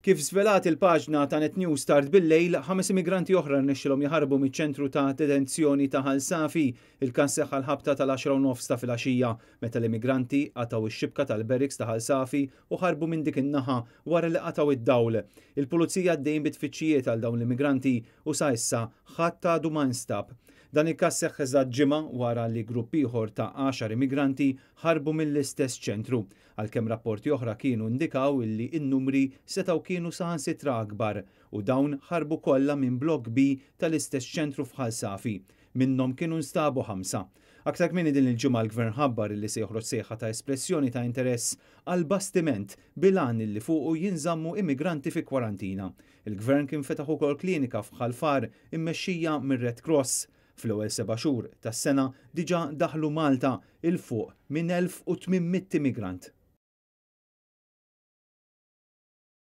Kif żvelat il-paġna ta' Net News tard bil-lejl, ħames immigranti oħra rnexxilhom jaħarbu miċ-ċentru ta' detenzjoni ta' Ħal Safi. Il-każ seħħ għall-ħabta tal-10:30 ta' filgħaxija, meta l-immigranti qatgħu x-xibka tal-barracks ta' Ħal Safi u ħarbu minn dik in-naħa wara li qatgħu id-dawl. Il-pulizija għaddejjin bi tfittxijiet għal dawn l-immigranti u sa issa ħadd għadu ma nstab. Dan il-każ seħħ eżatt ġimgħa wara li grupp ieħor ta' 10 immigranti ħarbu mill-istess ċentru, għalkemm rapporti oħra kienu indikaw illi n-numri setgħu kienu saħansitra akbar u dawn ħarbu kollha minn Blokk B tal-istess ċentru f'Ħal Safi. Minnhom kienu nstabu ħamsa. Aktar kmieni din il-ġimgħa l-Gvern ħabbar illi se joħroġ sejħa ta' espressjoni ta' interess għal bastiment bil-għan illi fuqu jinżammu immigranti fi kwarantina. Il-Gvern kien fetaħ ukoll klinika f'Ħal Far immexxija mir-Red Cross. Fl-ewwel seba' xhur tas-sena diġà daħlu Malta 'il fuq minn 1,800 immigrant.